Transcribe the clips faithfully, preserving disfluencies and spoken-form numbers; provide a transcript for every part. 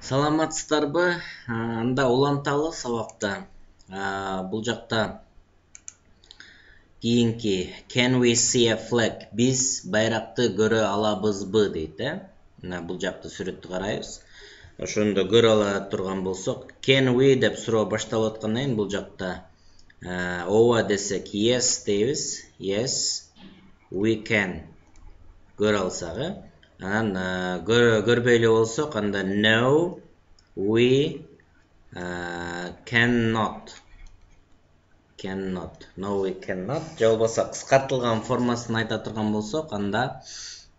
Саламатсыздарбы? Анда уланталы сабакта. Бул жакта кийинки can we see a flag? Биз байракты көрө алабызбы дейт, э? Мына бул жакта сүрөттү карайбыз. Ошондо көрө ала турган болсок, can we деп суроо башталып аткандан кийин бул жакта ооба десек yes дейбиз. Yes, we can көрө алсак, э? Анан көрбөй эле болсок, анда no, we uh, cannot. Cannot. No, we cannot. Же болбосо кыскартылган формасын айта турган болсок, анда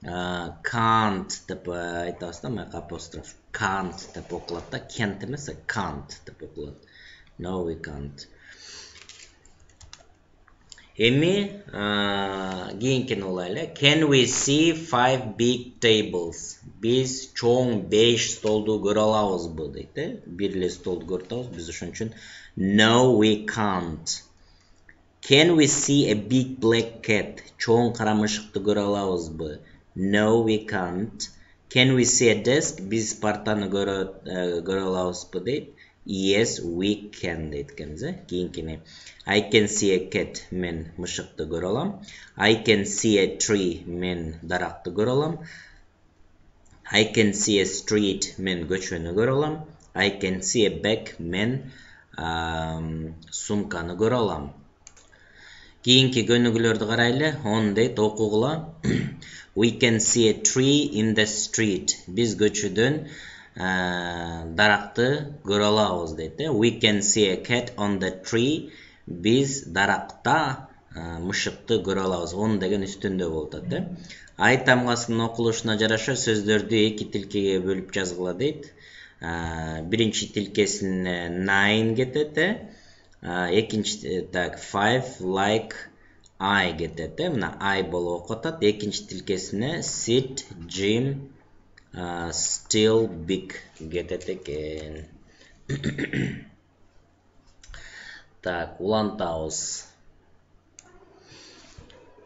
uh, can't деп айтабыз да, мына апостроф. Can't деп окулат да, can't эмес, can't деп окулат. No, we can't. Эми кийинкини улайлы. Can we see five big tables? Биз чоң беш столду көрө алабызбы дейт, э? Бир эле столду көрүп атабыз, биз ошон үчүн no, we can't. Can we see a big black cat? Чоң кара мышыкты көрө алабызбы? No, we can't. Can we see a desk? Биз партаны көрө көрө алабызбы дейт. Yes, we can дейт экенбиз, э? Кийинкини. I can see a cat, мен мышыкты көрө алам. I can see a tree, мен даракты көрө алам. I can see a street, мен көчөнү көрө алам. I can see a bag, мен сумканы көрө алам. Кийинки көнүгүүлөрдү карайлы. Он дейт, окугула. We can see a tree in the street. Биз көчөдөн даракты көрө алабыз дейт, э? We can see a cat on the tree. Биз даракта мышыкты көрө алабыз. Он деген үстүндө болуп атат, э? Ай тамгасынын окулушуна жараша сөздөрдү эки тилкеге бөлүп жазгыла дейт. Биринчи тилкесине nine кетет, э? Экинчи так five like I кетет, э? Мына I болуп окуп атат. Экинчи тилкесине sit, Jim, still big кетет экен. Так, улантабыз.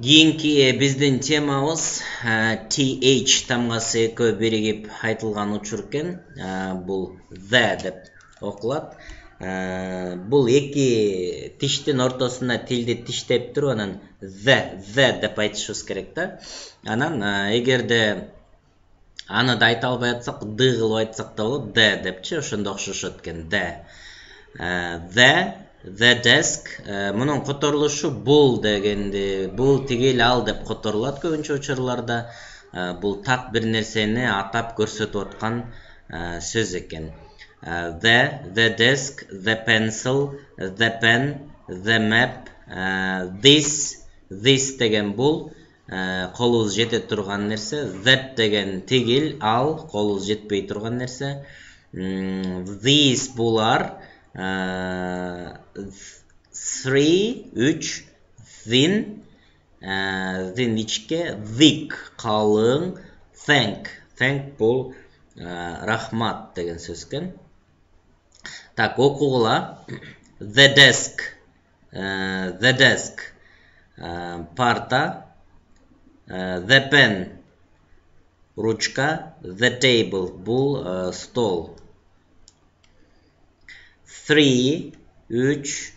Кийинки биздин темабыз th тамгасы экөө биригип айтылган учур экен. Бул the деп окулат. Бул эки тиштин ортосуна тилди тиштеп туруп, анан the, the деп айтышыбыз керек да. Анан эгерде аны да айта албай атсак, д кылып айтсак да болот, the депчи, ошондо окшошот экен. The. The, the desk. Мунун которулушу бул дегенди, бул тигил ал деп которулат көбүнчө учурларда. Бул так бир нерсени атап көрсөтүп аткан сөз экен. The, the desk, the pencil, the pen, the map, this, this деген бул колубуз жете турган нерсе. That деген тигил, ал колубуз жетпей турган нерсе. These булар. Three, үч. Thin, thin ичке. Thick, калың. Thank, thank бул рахмат деген сөз экен. Так, окугула. The desk, the desk, парта. The pen, ручка. The table, бул стол. Three, үч.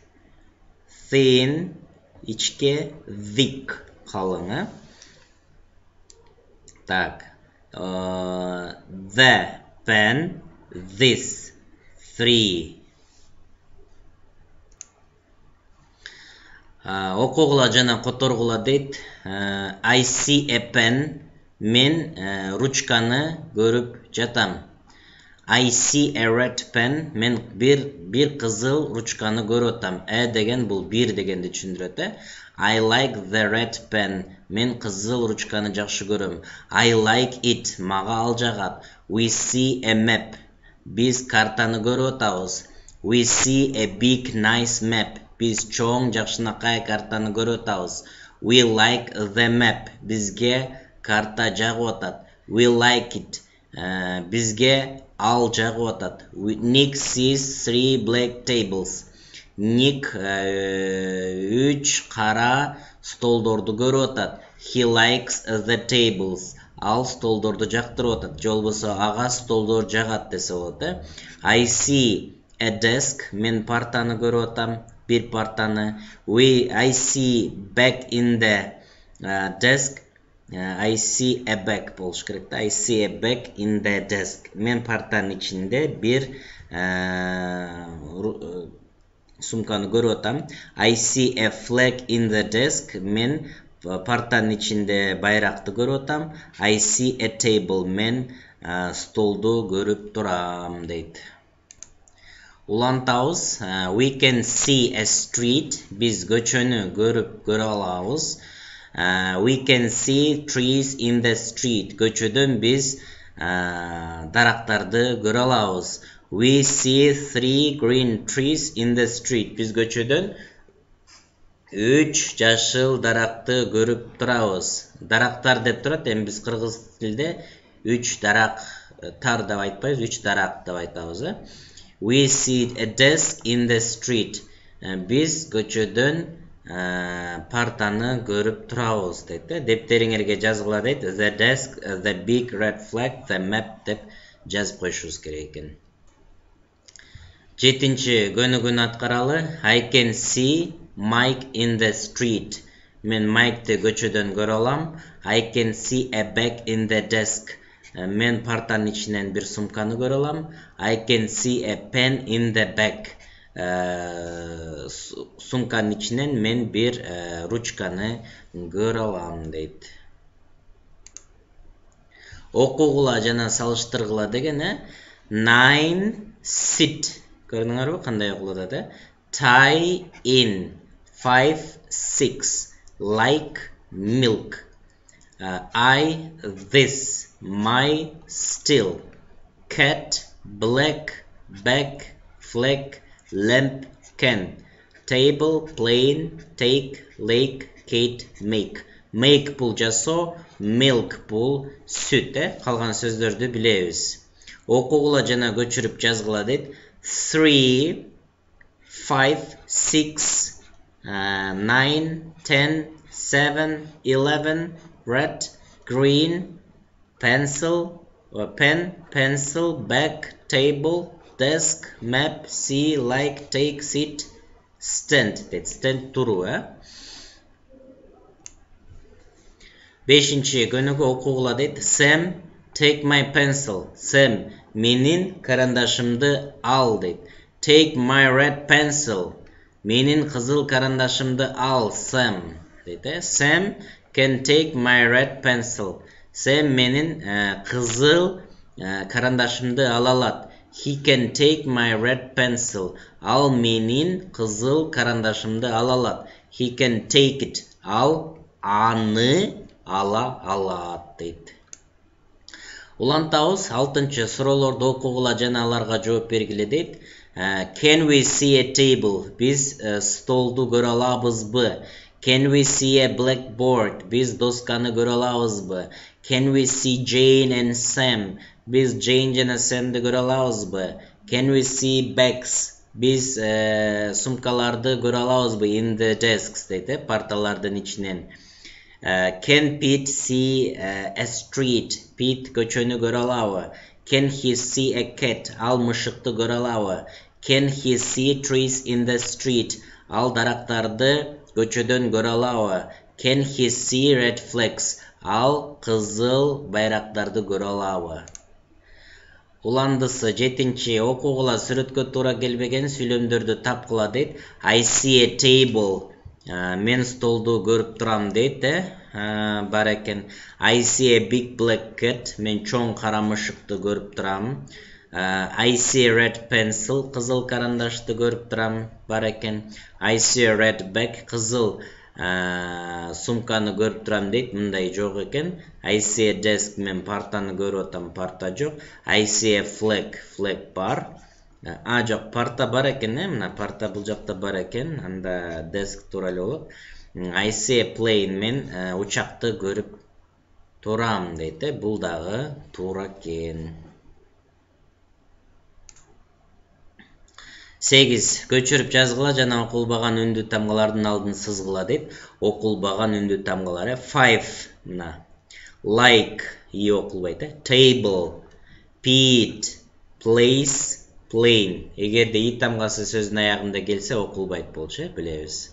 Thin, ичке. Thick, калың. Так. The pen, this. Three. Окугула жана которгула дейт. I see a pen. Мен ручканы көрүп жатам. I see a red pen. Мен бир бир кызыл ручканы көрүп атам. Э деген бул бир дегенди түшүндүрөт, э? I like the red pen. Мен кызыл ручканы жакшы көрөм. I like it. Мага ал жагат. We see a map. Биз картаны көрүп атабыз. We see a big nice map. Биз чоң жакшынакай картаны көрүп атабыз. We like the map. Бизге карта жагып атат. We like it. Бизге ал жагып атат. Nick sees three black tables. Nick үч кара столдорду көрүп атат. He likes the tables. ал столдорду жактырып атат, же болбосо ага столдор жагат десе болот э. I see a desk. Мен партаны көрүп атам, бир партаны. We I see bag in the uh, desk. Uh, I see a bag болуш керек да. I see a bag in the desk. Мен партанын ичинде бир uh, сумканы көрүп атам. I see a flag in the desk. Мен партанын ичинде байракты көрүп атам. I see a table. Мен uh, столду көрүп турам дейт. Улантабыз. Uh, we can see a street. Биз көчөнү көрүп көрө алабыз. Uh, we can see trees in the street. Көчөдөн биз uh, дарактарды көрө алабыз. We see three green trees in the street. Биз көчөдөн үч жашыл даракты көрүп турабыз. Дарактар деп турат, эми биз кыргыз тилинде үч дарак тар деп айтпайбыз, үч дарак деп айтабыз э. We see a desk in the street. Биз көчөдөн партаны көрүп турабыз дейт э. Дептериңерге жазгыла дейт. The desk, the big red flag, the map деп жазып коюшубуз керек экен. Жетинчи көнүгүүнү аткаралы. I can see Mike in the street. Мен Майкты көчөдөн көрө алам. I can see a bag in the desk. Мен партанын ичинен бир сумканы көрө алам. I can see a pen in the bag. Сумканын ичинен мен бир ручканы көрө алам дейт. Окугула жана салыштыргыла деген э. Nine sit. Көрдүңөрбү кандай окулуп атат э? Tie in. Five six. Like milk. Uh, I this. My still. Cat black. Bag flag. Lamp can. Table plain. Take lake Kate make. Make бул жасоо, milk бул сүт э. Калган сөздөрдү билебиз. Окугула жана көчүрүп жазгыла дейт. Three, five, six, uh, nine, ten, seven, eleven, red, green, pencil, or pen, pencil, bag, table, desk, map, see, like, take, sit, stand. That stand туруу э. Бешинчи көнүгүү окугула дейт. Sam, take my pencil. Sam, менин карандашымды ал дейт. Take my red pencil. Менин кызыл карандашымды ал, Sam дейт э. Sam can take my red pencil. Sam менин ә, кызыл ә, карандашымды ала алат. He can take my red pencil. Ал менин кызыл карандашымды ала алат. He can take it. Ал аны ала алат дейт. Улантабыз. Алтынчы суроолорду окугула жана аларга жооп бергиле дейт. Uh, can we see a table? Биз uh, столду көрө алабызбы? Can we see a blackboard? Биз досканы көрө алабызбы? Can we see Jane and Sam? Биз Jane жана Sam'ди көрө алабызбы? Can we see bags? Биз uh, сумкаларды көрө алабызбы? In the desks дейт э, парталардын ичинен. Uh, can Pete see uh, a street? Pete көчөнү көрө алабы? Can he see a cat? Ал мышыкты көрө алабы? Can he see trees in the street? Ал дарактарды көчөдөн көрө алабы? Can he see red flags? Ал кызыл байрактарды көрө алабы? Уландысы. Жетинчи окугула сүрөткө туура келбеген сүйлөмдөрдү тапкыла дейт. I see a table. Uh, мен столду көрүп турам дейт э. Uh, бар экен. I see a big black cat. Мен чоң кара мышыкты көрүп турам. Uh, I see a red pencil. Кызыл карандашты көрүп турам. Бар экен. I see a red bag. Кызыл uh, сумканы көрүп турам дейт. Мындай жок экен. I see a desk. Мен партаны көрүп атам. Парта жок. I see a flag. Flag бар. А жок, парта бар экен э. Мына парта бул жакта бар экен. Анда desk туура эле болот. I see a plane. Мен uh, учакты көрүп турам дейт э. Бул дагы туура экен. сегиз. Көчүрүп жазгыла жана окулбаган үндүү тамгалардын алдын сызгыла дейт. Окулбаган үндүү тамгалары. Five. Мына. Like. и окулбайт, э? Table, pit, place, plane. Эгерде и тамгасы сөздүн аягында келсе окулбайт болчу, э, билебиз.